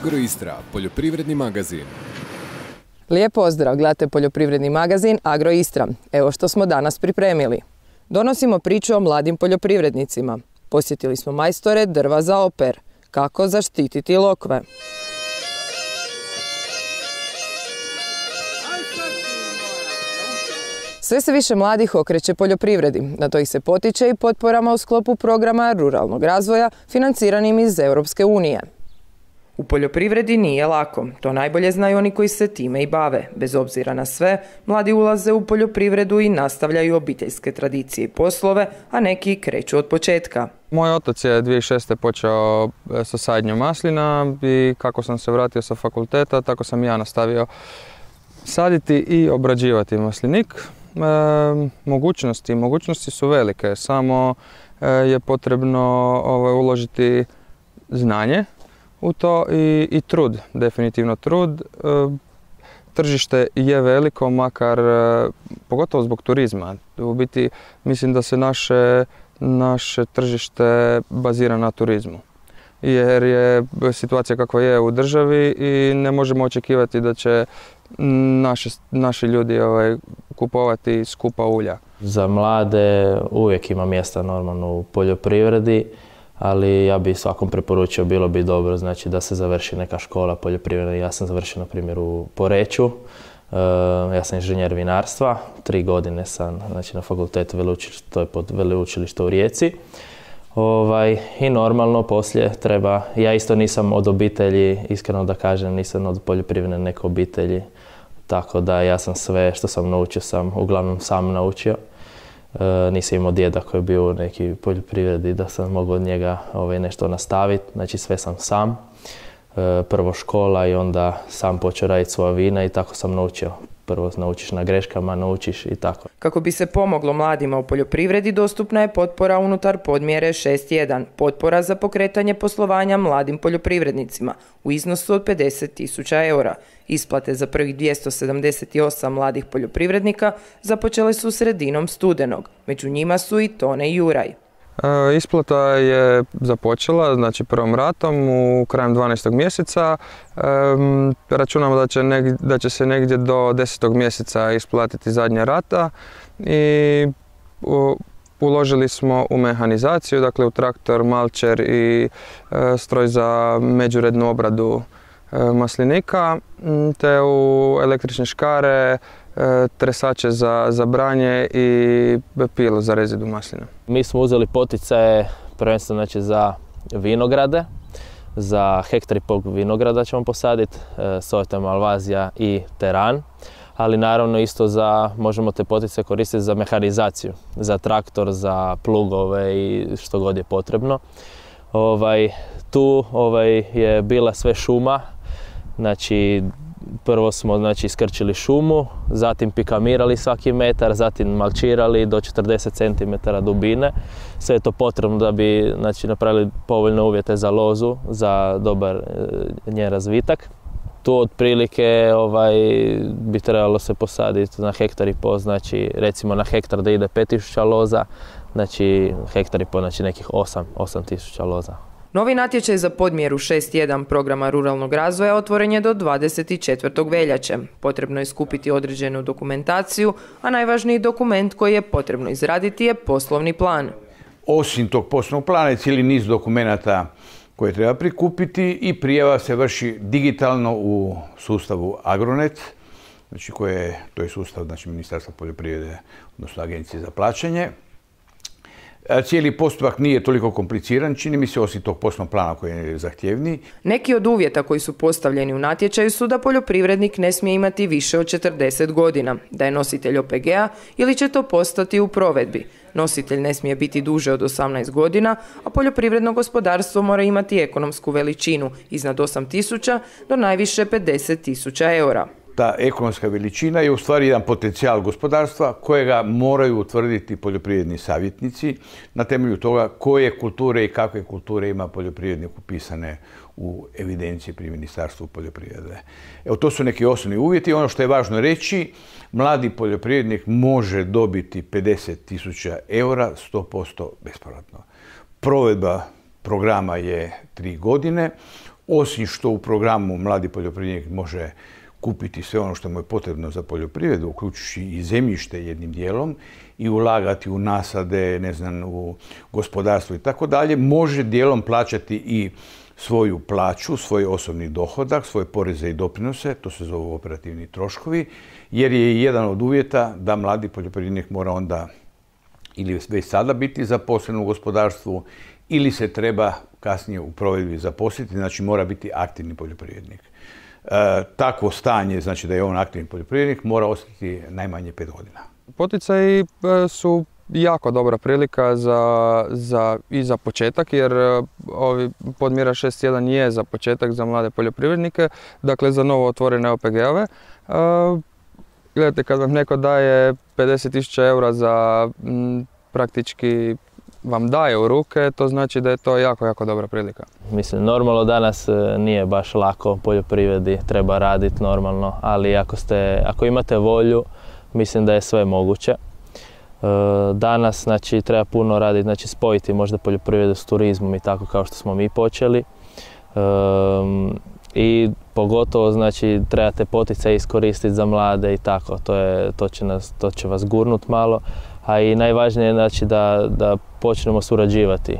Agroistra, poljoprivredni magazin. Lijep pozdrav, gledate poljoprivredni magazin Agroistra. Evo što smo danas pripremili. Donosimo priču o mladim poljoprivrednicima. Posjetili smo majstore drva za oper. Kako zaštititi lokve. Sve se više mladih okreće poljoprivredi. Na to ih se potiče i potporama u sklopu programa ruralnog razvoja financiranim iz Europske unije. U poljoprivredi nije lako. To najbolje znaju oni koji se time i bave. Bez obzira na sve, mladi ulaze u poljoprivredu i nastavljaju obiteljske tradicije i poslove, a neki kreću od početka. Moj otac je 2006. počeo sa sadnjom maslina i kako sam se vratio sa fakulteta, tako sam ja nastavio saditi i obrađivati maslinik. Mogućnosti su velike, samo je potrebno uložiti znanje u to i trud, definitivno trud. Tržište je veliko, makar pogotovo zbog turizma. U biti mislim da se naše tržište bazira na turizmu. Jer je situacija kakva je u državi i ne možemo očekivati da će naši ljudi kupovati skupa ulja. Za mlade uvijek ima mjesta normalno u poljoprivredi, ali ja bi svakom preporučio, bilo bi dobro znači da se završi neka škola poljoprivredna. Ja sam završio na primjer u Poreču, ja sam inženjer vinarstva, 3 godine sam znači, na fakultetu veleučilišta, to je pod veleučilište u Rijeci. I normalno poslije treba, ja isto nisam od obitelji, iskreno da kažem, nisam od poljoprivredne neke obitelji, tako da ja sam sve što sam naučio sam uglavnom sam naučio. Nisam imao djeda koji je bio u neki poljoprivredi da sam mogao od njega nešto nastaviti, znači sve sam sam. Prvo škola i onda sam počeo raditi svoja vina i tako sam naučio. Prvo naučiš na greškama, naučiš i tako. Kako bi se pomoglo mladima u poljoprivredi, dostupna je potpora unutar podmjere 6.1. Potpora za pokretanje poslovanja mladim poljoprivrednicima u iznosu od 50.000 eura. Isplate za prvih 278 mladih poljoprivrednika započele su sredinom studenog. Među njima su i Tone i Juraj. Isplata je započela, znači prvom ratom u krajem 12. mjeseca. Računamo da će se negdje do 10. mjeseca isplatiti zadnja rata i uložili smo u mehanizaciju, dakle u traktor, malčer i stroj za međurednu obradu maslinika, te u električne škare, tresače za branje i pilu za rezidu maslina. Mi smo uzeli poticaje prvenstveno znači, za vinograde, za 1,5 ha vinograda ćemo posaditi, Sorte Malvazija i Teran, ali naravno isto možemo te poticaje koristiti za mehanizaciju, za traktor, za plugove i što god je potrebno. Tu je bila sve šuma, znači prvo smo iskrčili šumu, zatim pikamirali svaki metar, zatim malčirali do 40 cm dubine. Sve je to potrebno da bi napravili povoljne uvjete za lozu, za dobar njen razvitak. Tu otprilike bi trebalo se posaditi na 1,5 ha, znači recimo na hektar da ide 5.000 loza, znači 1,5 ha, znači nekih 8.000 loza. Novi natječaj za podmjeru 6.1 programa ruralnog razvoja otvoren je do 24. veljače. Potrebno je skupiti određenu dokumentaciju, a najvažniji dokument koji je potrebno izraditi je poslovni plan. Osim tog poslovnog plana je cijeli niz dokumenata koje treba prikupiti i prijava se vrši digitalno u sustavu Agronet, znači to je sustav Ministarstva poljoprivrede, odnosno Agencije za plaćanje. Cijeli postupak nije toliko kompliciran, čini mi se, osim tog poslovnog plana koji je zahtjevniji. Neki od uvjeta koji su postavljeni u natječaju su da poljoprivrednik ne smije imati više od 40 godina, da je nositelj OPG-a ili će to postati u provedbi. Nositelj ne smije biti duže od 18 godina, a poljoprivredno gospodarstvo mora imati ekonomsku veličinu iznad 8.000 do najviše 50.000 eura. Ta ekonomska veličina je u stvari jedan potencijal gospodarstva kojega moraju utvrditi poljoprivredni savjetnici na temelju toga koje kulture i kakve kulture ima poljoprivrednik upisane u evidenciji pri Ministarstvu poljoprivrede. Evo, to su neki osnovni uvjeti. Ono što je važno reći, mladi poljoprivrednik može dobiti 50.000 eura 100% bespovratno. Provedba programa je 3 godine. osim što u programu mladi poljoprivrednik može kupiti sve ono što mu je potrebno za poljoprivredu, uključujući i zemljište jednim dijelom, i ulagati u nasade, ne znam, u gospodarstvo i tako dalje, može dijelom plaćati i svoju plaću, svoj osobni dohodak, svoje poreze i doprinose, to se zovu operativni troškovi, jer je jedan od uvjeta da mladi poljoprivrednik mora onda ili već sada biti zaposlen u gospodarstvu ili se treba kasnije u provedbi zaposliti, znači mora biti aktivni poljoprivrednik. Takvo stanje, znači da je on aktivni poljoprivrednik, mora ostati najmanje 5 godina. Poticaji su jako dobra prilika i za početak, jer podmjera 6.1 je za početak za mlade poljoprivrednike, dakle za novo otvorene OPG-ove. Gledajte, kad vam neko daje 50.000 eura za praktički vam daje u ruke, to znači da je to jako, jako dobra prilika. Mislim, normalno danas nije baš lako u poljoprivredi, treba raditi normalno, ali ako imate volju, mislim da je sve moguće. Danas znači, treba puno raditi, znači spojiti možda poljoprivredu s turizmom i tako kao što smo mi počeli. I pogotovo znači, trebate poticaje iskoristiti za mlade i tako, to će vas gurnut malo. A i najvažnije je znači, da počnemo surađivati.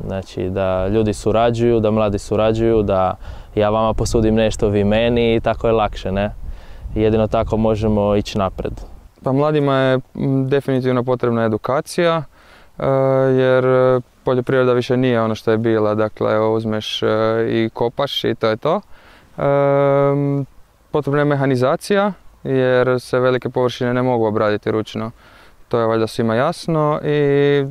Znači da ljudi surađuju, da mladi surađuju, da ja vama posudim nešto, vi meni i tako je lakše, ne? Jedino tako možemo ići napred. Pa mladima je definitivno potrebna edukacija, jer poljoprivreda više nije ono što je bila, dakle uzmeš i kopaš i to je to. Potrebna je mehanizacija, jer se velike površine ne mogu obraditi ručno. To je valjda svima jasno i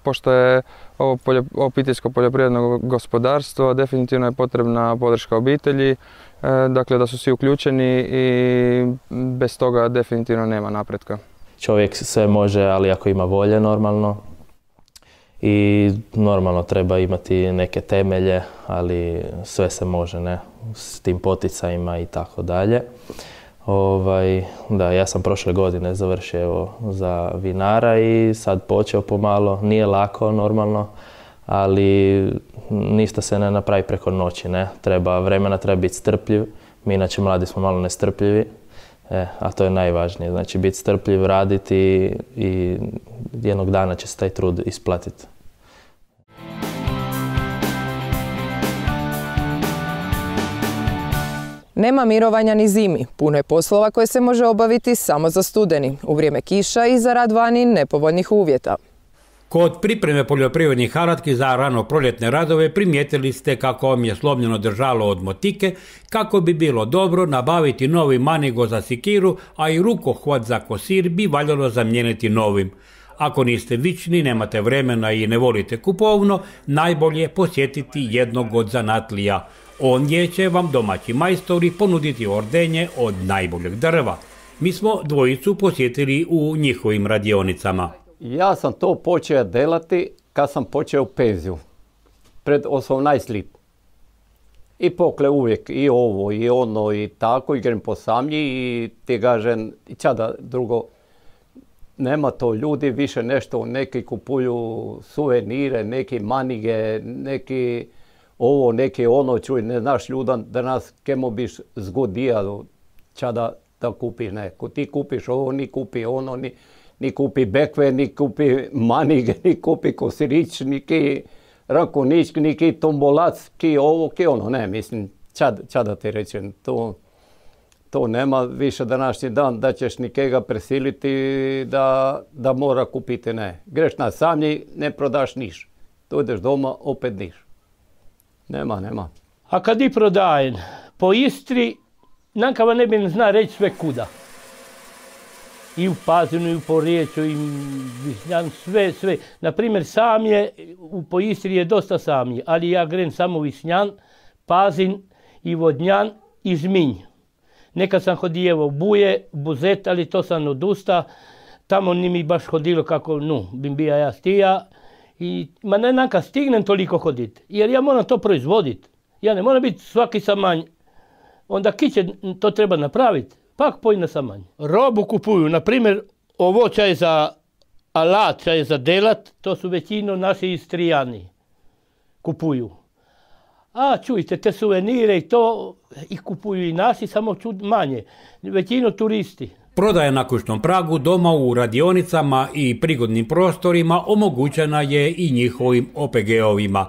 pošto je ovo obiteljsko poljoprivredno gospodarstvo, definitivno je potrebna podrška obitelji, dakle da su svi uključeni i bez toga definitivno nema napretka. Čovjek sve može, ali ako ima volje normalno. I normalno treba imati neke temelje, ali sve se može, ne, s tim poticajima i tako dalje. Da, ja sam prošle godine završio za vinara i sad počeo pomalo. Nije lako normalno, ali ništa se ne napravi preko noći, ne. Treba vremena, treba biti strpljiv. Mi inače mladi smo malo nestrpljivi, a to je najvažnije. Znači biti strpljiv, raditi i jednog dana će se taj trud isplatiti. Nema mirovanja ni zimi. Puno je poslova koje se može obaviti samo za studeni, u vrijeme kiša i za rad vani nepovoljnih uvjeta. Kod pripreme poljoprivrednih alatki za rano proljetne radove primijetili ste kako vam je slomljeno držalo od motike, kako bi bilo dobro nabaviti novi manigo za sikiru, a i rukohvat za kosir bi valjalo zamijeniti novim. Ako niste vični, nemate vremena i ne volite kupovno, najbolje posjetiti jednog od zanatlija. Ondje će vam domaći majstori ponuditi ordenje od najboljeg drva. Mi smo dvojicu posjetili u njihovim radionicama. Ja sam to počeo delati kad sam počeo penziju, pred 18 let. I pokle uvijek i ovo i ono i tako, igram po samlji i ti kažem, čada drugo, nema to ljudi, više nešto, neki kupuju suvenire, neki manige, neki ovo, neki ono, čuj, ne znaš ljudan da nas kemo biš zgodijalo, čada da kupi neko. Ti kupiš ovo, ni kupi ono, ni kupi bekve, ni kupi manige, ni kupi kosirić, ni ki rankonić, ni ki tombolac, ki ovo, ki ono, ne, mislim, čada ti rečem, to nema više današnji dan da ćeš nikega presiliti da mora kupiti, ne. Greš na samlji, ne prodaš niš. Tu ideš doma, opet niš. Nema. A kad i prodajem po Istri, nankava ne bi zna reći sve kuda. I u Pazinu, i u Poreču, i Višnjan, sve. Naprimjer, samlje, po Istri je dosta samlje, ali ja grem samo Višnjan, Pazin i Vodnjan i Žminj. Nekad sam hodio u Buje, Buzet, ali to sam odusta. Tamo ni mi baš hodilo kako, bim bija ja stija. Ma ne nanka stignem toliko hoditi, jer ja moram to proizvoditi. Ja ne moram biti svaki samanj. Onda kiće to treba napraviti, pak pojne samanj. Robu kupuju, na primjer, ovo čaj za alat, čaj za delat, to su većino naši Istrijani kupuju. A čujte, te suvenire i to i kupuju i naši, samo manje. Većinu turisti. Prodaja na kućnom pragu, doma u radionicama i prigodnim prostorima omogućena je i njihovim OPG-ovima.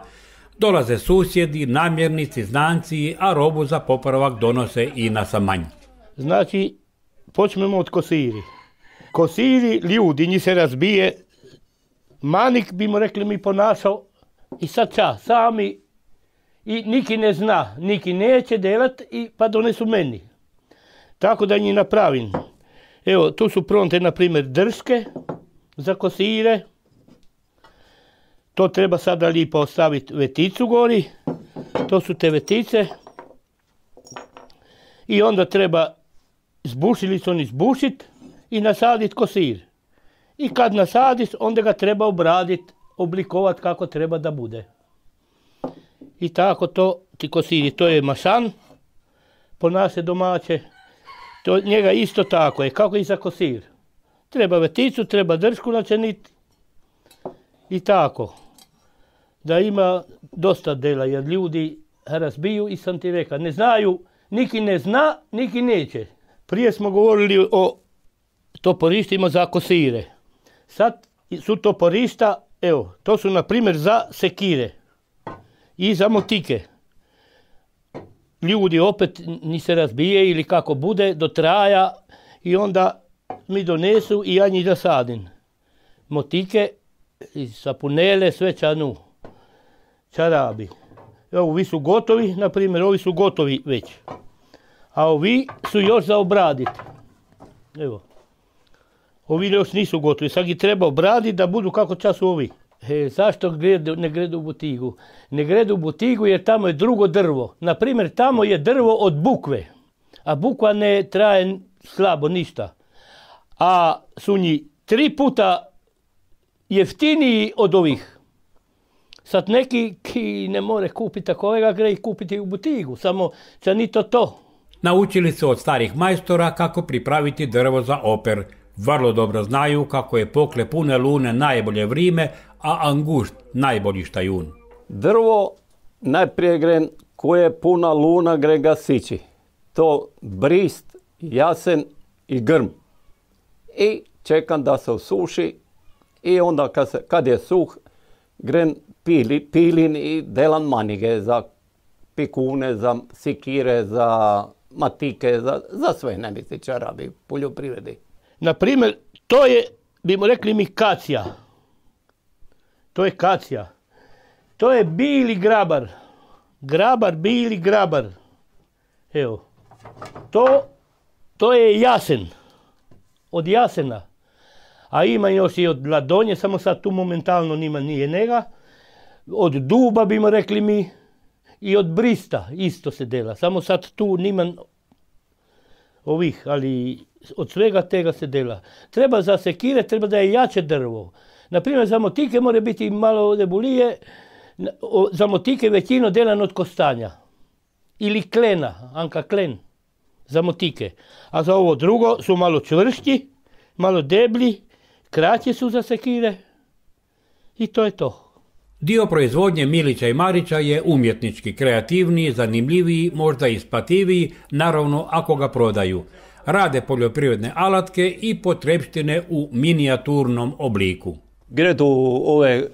Dolaze susjedi, namjernici, znanci, a robu za popravak donose i na Samanj. Znači, počnemo od kosiri. Kosiri, ljudi, njih se razbije. Manik, bi mu rekli, mi ponašao i sad sami. I niki ne zna, niki neće delat, pa donesu meni. Tako da njih napravim. Evo, tu su pronte, na primjer, drške za kosire. To treba sada lipo ostaviti veticu gori. To su te vetice. I onda treba zbušilicom izbušiti i nasaditi kosir. I kad nasadiš, onda ga treba obraditi, oblikovati kako treba da bude. I tako to ti kosiri. To je mašan po naše domaće. To njega isto tako je, kako i za kosir. Treba veticu, treba dršku načiniti i tako. Da ima dosta dela, jer ljudi razbiju i sam ti rekao, ne znaju, niki ne zna, niki neće. Prije smo govorili o toporištima za kosire. Sad su toporišta, evo, to su na primjer za sekire i za motike. Ljudi opet ni se razbije ili kako bude do traja i onda mi donesu i ja njih zasadim. Motike, sapunele, sve čarabi. Evo, ovi su gotovi, na primjer, ovi su gotovi već. A ovi su još za obraditi. Evo. Ovi još nisu gotovi, sad ih treba obraditi da budu kako čas ovi. Zašto ne gredu u butigu? Ne gredu u butigu jer tamo je drugo drvo. Naprimjer, tamo je drvo od bukve, a bukva ne traje slabo ništa. A su njih 3 puta jeftiniji od ovih. Sad neki ki ne more kupiti takovega, gre ih kupiti u butigu, samo će ni to. Naučili se od starih majstora kako pripraviti drvo za oper. Vrlo dobro znaju kako je pokle pune lune najbolje vrime, a angušt najbolji štajun. Drvo najprije gre koje je puna luna gre ga sići. To brist, jasen i grm. I čekam da se osuši i onda kad je suh gren pilin i delan manige za pikune, za sikire, za matike, za sve nemisi čarabi, poljoprivredi. Naprimjer, to je, bimo rekli mi, kacija. To je kacija. To je bili grabar. Bili grabar. Evo. To je jasen. Od jasena. A ima još i od ladonje, samo sad tu momentalno nije njega. Od duba, bimo rekli mi, i od brista isto se dela. Samo sad tu nima ovih, ali od svega tega se dela. Treba za sekire, treba da je jače drvo. Naprimjer, za motike mora biti malo debulije, za motike većino delan od kostanja. Ili klena, anka klen, za motike. A za ovo drugo su malo čvršći, malo deblji, kraće su za sekire i to je to. Dio proizvodnje Milića i Marića je umjetnički, kreativniji, zanimljiviji, možda isplativiji, naravno ako ga prodaju. Rade poljoprivredne alatke i potrepštine u minijaturnom obliku. Gredu ove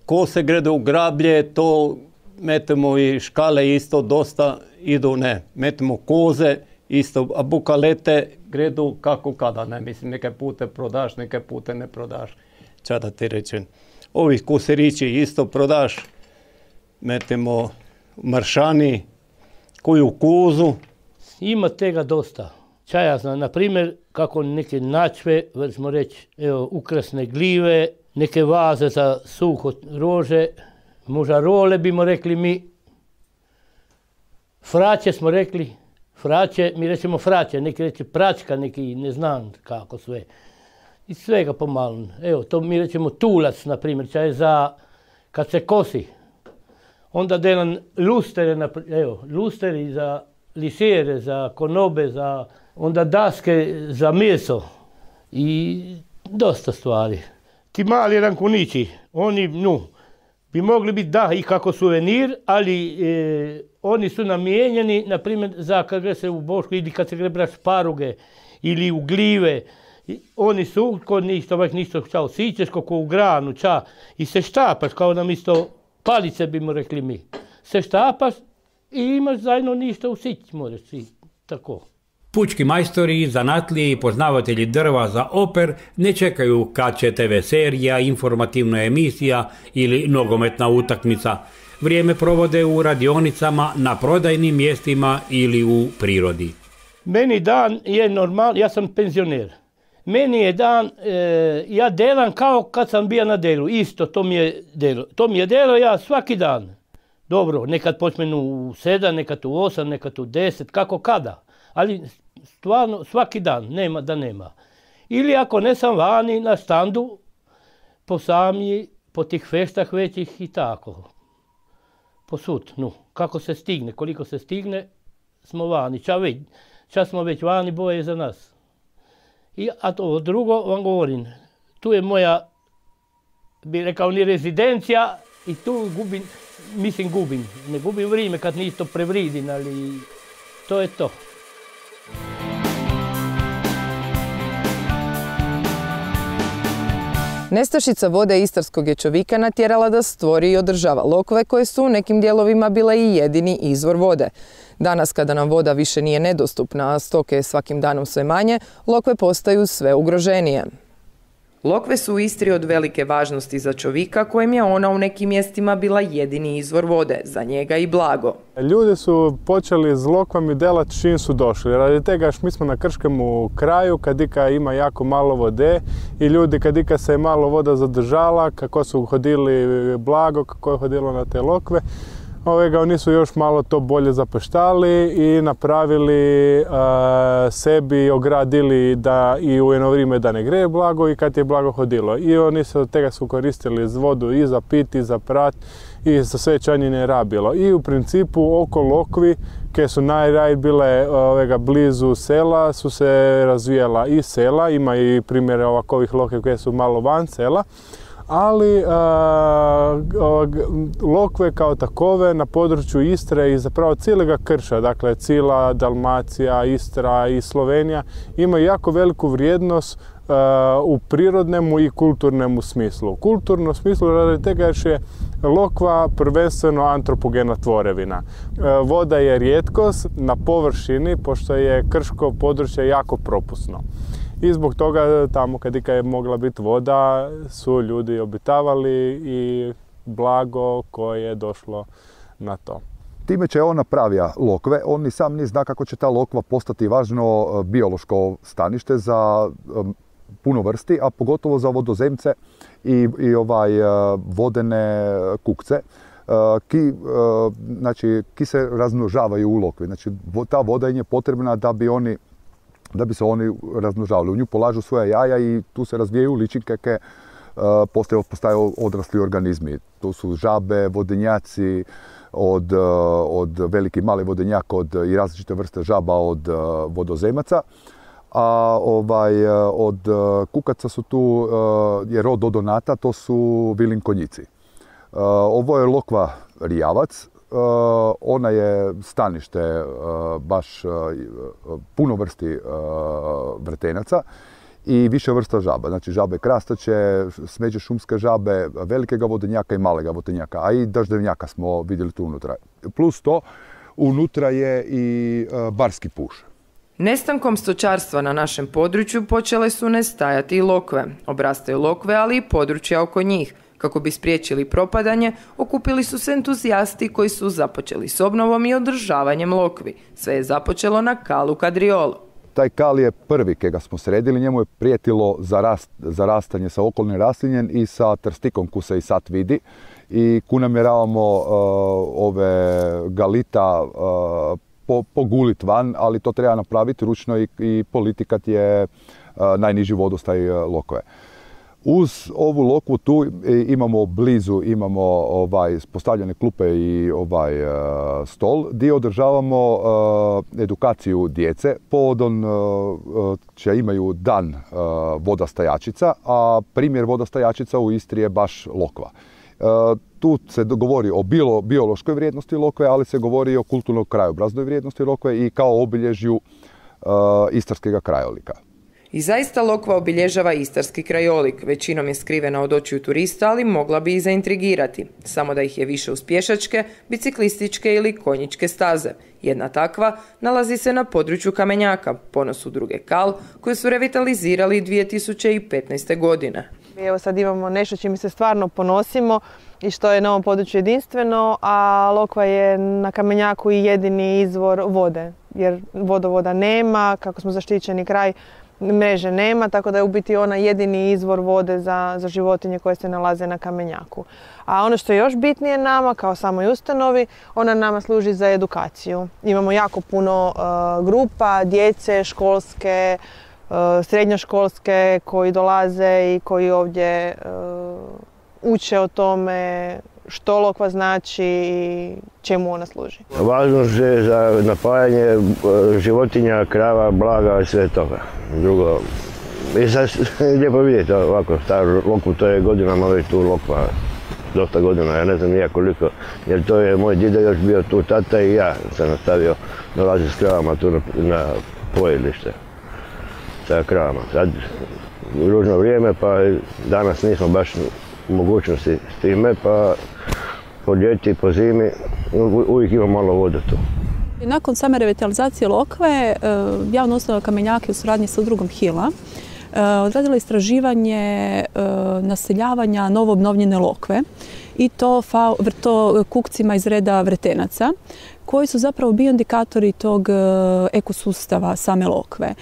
kose, gredu u grablje, to metemo i škale isto dosta idu, metemo koze isto, a bukalete gredu kako kada, mislim, neke pute prodaš, neke pute ne prodaš, ča da ti rečem. Ovi koserići isto prodaš, metemo maršani, koju kozu. Ima tega dosta. Ča ja znam, na primjer, kako neke načve, vrćemo reći, evo, ukrasne gljive, neke vaze za suho rože, mužarole bimo rekli mi, fraće smo rekli, fraće, mi rećemo fraće, neki reće pračka, neki ne znam kako sve. I svega pomalo. Evo, to mi rećemo tulac, na primjer, ča je za, kad se kosi. Onda delan lustere, evo, lusteri za lišere, za konobe, za onda daske za meso i dosta stvari. Ti mali rankunići, oni, bi mogli biti da i kako suvenir, ali oni su namijenjeni, na primjer, za kad gre se u Bošku ili kad se gre brati šparuge ili u gljive. Oni su, kod njih to već ništo čao sićeš, kako u granu, ča, i se štapaš, kao nam isto palice bi mu rekli mi. Se štapaš i imaš zajedno ništa u sić, možeš i tako. Pučki majstori, zanatlije i poznavatelji drva za oper ne čekaju kad će TV serija, informativna emisija ili nogometna utakmica. Vrijeme provode u radionicama, na prodajnim mjestima ili u prirodi. Meni dan je normal, ja sam penzioner. Meni je dan, ja delam kao kad sam bio na delu, isto to mi je delo. To mi je delo ja svaki dan. Dobro, nekad počmenu u 7, nekad u 8, nekad u 10, kako kada. Ali stvarno svaki dan, nema da nema. Ili ako ne sam vani na štandu, po samji, po tih feštah većih i tako. Po sud, kako se stigne, koliko se stigne, smo vani. Čas smo već vani, boje za nas. A to drugo vam govorim, tu je moja, bi rekao, ni rezidencija i tu gubim, ne gubim vrijeme kad ništo prevridim, ali to je to. Nestašica vode istarskog je čovjeka natjerala da stvori i održava lokve koje su u nekim dijelovima bile i jedini izvor vode. Danas kada nam voda više nije nedostupna, a stoke je svakim danom sve manje, lokve postaju sve ugroženije. Lokve su u Istri od velike važnosti za čovjeka kojem je ona u nekim mjestima bila jedini izvor vode, za njega i blago. Ljudi su počeli s lokvami delati čim su došli. Radi tega mi smo na krškemu kraju, kadika ima jako malo vode i ljudi kadika se je malo voda zadržala, kako su hodili blago, kako je hodilo na te lokve, oni su još malo to bolje zapeštali i napravili sebi, ogradili da i u jedno vrijeme da ne greje blago i kad je blago hodilo. I oni se od tega su koristili vodu i za pit, i za prat, i za sve čanjine rabilo. I u principu oko lokvi, koje su najraj bile blizu sela, su se razvijala i sela, ima i primjere ovakovih lokve koje su malo van sela, ali lokve kao takove na području Istre i zapravo cijelega krša, dakle cijela Dalmacija, Istra i Slovenija, imaju jako veliku vrijednost u prirodnemu i kulturnemu smislu. U kulturnom smislu radi tega jer je lokva prvenstveno antropogena tvorevina. Voda je rijetkost na površini, pošto je krško područje jako propusno. I zbog toga tamo kad je mogla biti voda su ljudi obitavali i blago koje je došlo na to. Time će on napravija lokve, on ni sam ni zna kako će ta lokva postati važno biološko stanište za puno vrsti, a pogotovo za vodozemce i vodene kukce. Ki se razmnožavaju u lokvi. Znači, ta voda im je potrebna da bi se oni razmnožavali. U nju polažu svoja jaja i tu se razvijaju ličinke koje postaju odrasli organizmi. Tu su žabe, vodenjaci, od veliki mali vodenjak i različite vrste žaba od vodozemaca. A od kukaca su tu, je rod odonata, to su vilinkonjici. Ovo je lokva rijavac. Ona je stanište baš puno vrsti vretenaca i više vrsta žaba. Znači žabe krastače, smeđe šumske žabe, velikega vodenjaka i malega vodenjaka, a i daždevnjaka smo vidjeli tu unutra. Plus to, unutra je i barski puš. Nestankom stočarstva na našem području počele su nestajati i lokve. Obrastaju lokve, ali i područja oko njih. Kako bi spriječili propadanje, okupili su se entuzijasti koji su započeli s obnovom i održavanjem lokvi. Sve je započelo na kalu Kadriolu. Taj kal je prvi kega smo sredili, njemu je prijetilo zarastanje sa okolnim raslinjem i sa trstikom ku se i sad vidi. I ku namjeravamo ove galita pogulit van, ali to treba napraviti ručno i politikat je najniži vodostaj lokve. Uz ovu lokvu tu imamo postavljene klupe i stol gdje održavamo edukaciju djece. Povodom će imaju dan vodostajačica, a primjer vodostajačica u Istri je baš lokva. Tu se govori o biološkoj vrijednosti lokve, ali se govori i o kulturno krajobraznoj vrijednosti lokve i kao obilježju istarskega krajolika. I zaista lokva obilježava istarski krajolik. Većinom je skrivena od očiju turista, ali mogla bi i zaintrigirati. Samo da ih je više uz pješačke, biciklističke ili konjičke staze. Jedna takva nalazi se na području Kamenjaka, ponos udruge Kal, koju su revitalizirali 2015. godine. Evo sad imamo nešto čime se stvarno ponosimo i što je na ovom području jedinstveno, a lokva je na Kamenjaku i jedini izvor vode, jer vodovoda nema, kako smo zaštićeni kraj, mreže nema, tako da je u biti ona jedini izvor vode za životinje koje se nalaze na Kamenjaku. A ono što je još bitnije nama, kao samoj ustanovi, ona nama služi za edukaciju. Imamo jako puno grupa, djece, školske, srednjoškolske koji dolaze i koji ovdje uče o tome što lokva znači i čemu ona služi. Važnost je za napajanje životinja, krava, blaga i sve toga. Drugo, i sad lijepo vidjeti ovako staru lokvu, to je godinama već tu lokva, dosta godina, ja ne znam nija koliko, jer to je moj dida još bio tu, tata i ja sam nastavio dolaziti s kravama tu na pojelište sa kravama. Sad ružno vrijeme, pa danas nismo baš u mogućnosti s time, pa po ljeti, po zimi uvijek ima malo vode tu. Nakon same revitalizacije lokve, javna ustanova Kamenjak je u suradnji sa udrugom Hila odradila istraživanje naseljavanja novoobnovljene lokve i to kukcima iz reda vretenaca, koji su zapravo bioindikatori tog ekosustava same lokve.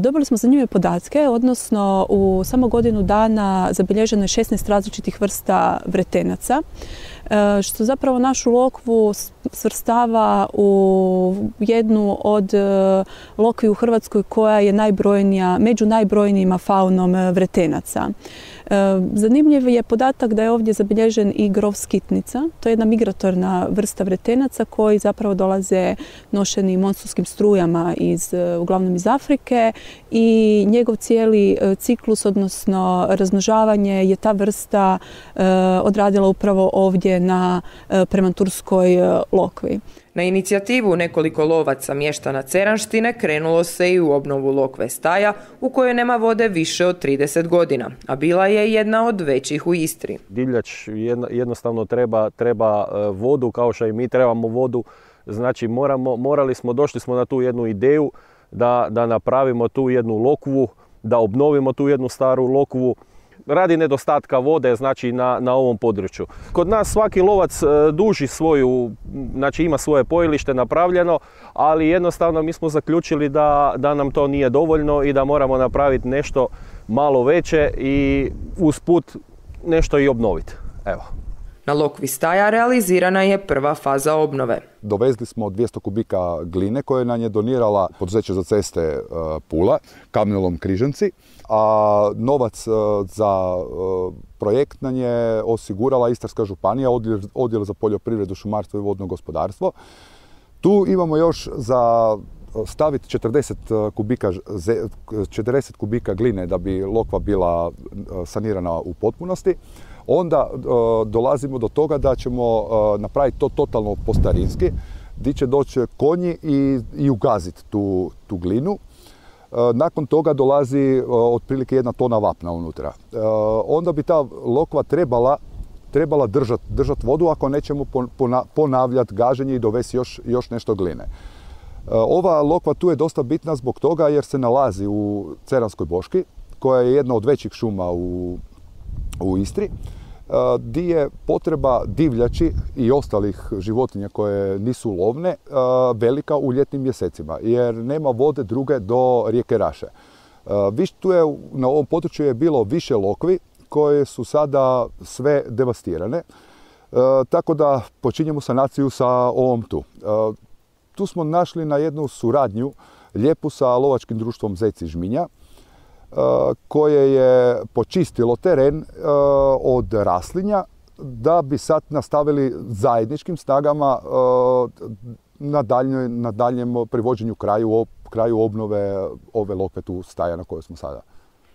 Dobili smo zanimljive podatke, odnosno u samo godinu dana zabilježeno je 16 različitih vrsta vretenaca, što zapravo našu lokvu svrstava u jednu od lokvi u Hrvatskoj koja je najbrojnija, među najbrojnijima faunom vretenaca. Zanimljiv je podatak da je ovdje zabilježen i grov skitnica. To je jedna migratorna vrsta vretenaca koji zapravo dolaze nošeni monsunskim strujama uglavnom iz Afrike i njegov cijeli ciklus, odnosno razmnožavanje, je ta vrsta odradila upravo ovdje na Premanturskoj lokvi. Na inicijativu nekoliko lovaca mještana Ceranštine krenulo se i u obnovu lokve Staja, u kojoj nema vode više od 30 godina, a bila je jedna od većih u Istri. Divljač jednostavno treba vodu, kao što i mi trebamo vodu. Znači došli smo na tu jednu ideju da napravimo tu jednu lokvu, da obnovimo tu jednu staru lokvu radi nedostatka vode, znači na ovom području. Kod nas svaki lovac duži znači ima svoje pojilište napravljeno, ali jednostavno mi smo zaključili da nam to nije dovoljno i da moramo napraviti nešto malo veće i usput nešto i obnoviti. Evo. Na lokvi Staja realizirana je prva faza obnove. Dovezli smo 200 kubika gline koje nam je donirala poduzeće za ceste Pula, Kamenolom Križanci, a novac za projekt nam je osigurala Istarska županija, odjel za poljoprivredu, šumarstvo i vodno gospodarstvo. Tu imamo još za staviti 40 kubika gline da bi lokva bila sanirana u potpunosti. Onda dolazimo do toga da ćemo napraviti to totalno po starinski, gdje će doći konji i ugaziti tu glinu. Nakon toga dolazi otprilike 1 tona vapna unutra. Onda bi ta lokva trebala držati vodu ako nećemo ponavljati gaženje i dovesti još nešto gline. Ova lokva tu je dosta bitna zbog toga jer se nalazi u Ceranskoj boški, koja je jedna od većih šuma u Istri, gdje je potreba divljači i ostalih životinja koje nisu lovne velika u ljetnim mjesecima, jer nema vode druge do rijeke Raše. Na ovom području je bilo više lokvi koje su sada sve devastirane, tako da počinjemo sanaciju sa ovom tu. Tu smo našli na jednu suradnju lijepu sa lovačkim društvom Zec iz Žminja, koje je počistilo teren od raslinja da bi sad nastavili zajedničkim snagama na daljem privođenju kraju obnove ove lokve tu Staja na kojoj smo sada.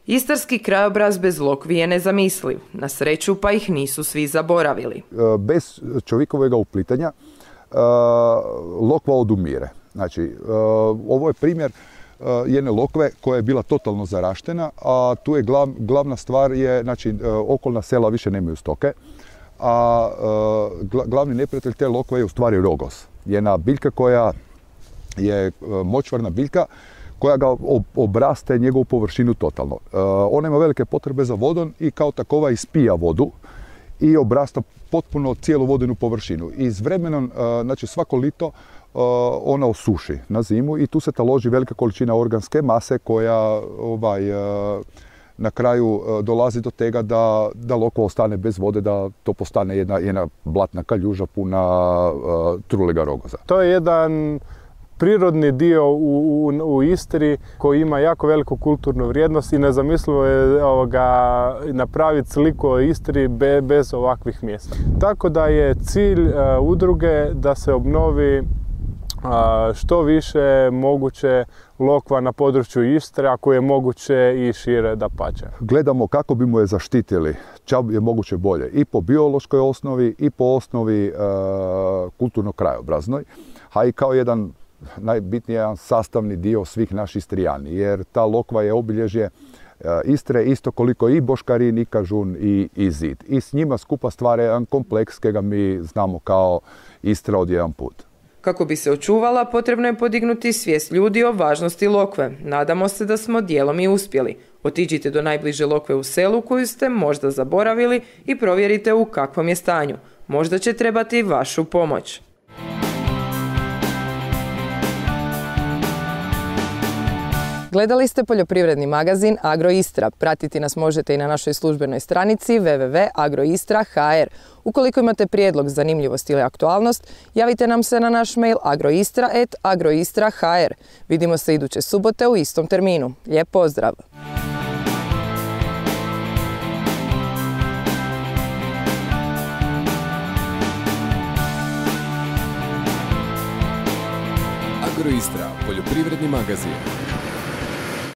Istarski krajobraz bez lokvi je nezamisliv. Na sreću pa ih nisu svi zaboravili. Bez čovjekovega uplitanja lokva odumire. Znači, ovo je primjer jedne lokve koja je bila totalno zaraštena, a tu je glavna stvar je, znači, okolna sela više nemaju stoke, a glavni neprijatelj te lokve je u stvari rogos. Jedna biljka koja je močvarna biljka koja ga obraste njegovu površinu totalno. Ona ima velike potrebe za vodom i kao takova ispija vodu i obrasta potpuno cijelu vodenu površinu. I s vremenom, znači svako lito, ona osuši na zimu i tu se taloži velika količina organske mase koja na kraju dolazi do tega da lokva ostane bez vode, da to postane jedna blatna kaljuža puna trulega rogoza. To je jedan prirodni dio u Istri koji ima jako veliku kulturnu vrijednost i nezamislivo je napraviti sliku o Istri bez ovakvih mjesta. Tako da je cilj udruge da se obnovi što više moguće lokva na području Istre, ako je moguće i šire dapače. Gledamo kako bi mu je zaštitili, čak je moguće bolje i po biološkoj osnovi i po osnovi kulturno-krajobraznoj, a i kao jedan najbitniji sastavni dio svih naših Istrijani, jer ta lokva je obilježje Istre isto koliko i Boškarin, i Kažun, i Zid. I s njima skupa stvara jedan kompleks kojega mi znamo kao Istra od jedan put. Kako bi se očuvala, potrebno je podignuti svijest ljudi o važnosti lokve. Nadamo se da smo dijelom i uspjeli. Otiđite do najbliže lokve u selu koju ste možda zaboravili i provjerite u kakvom je stanju. Možda će trebati vašu pomoć. Gledali ste poljoprivredni magazin Agroistra. Pratiti nas možete i na našoj službenoj stranici www.agroistra.hr. Ukoliko imate prijedlog, zanimljivost ili aktualnost, javite nam se na naš mail agroistra@agroistra.hr. Vidimo se iduće subote u istom terminu. Lijep pozdrav! Agroistra, poljoprivredni magazin.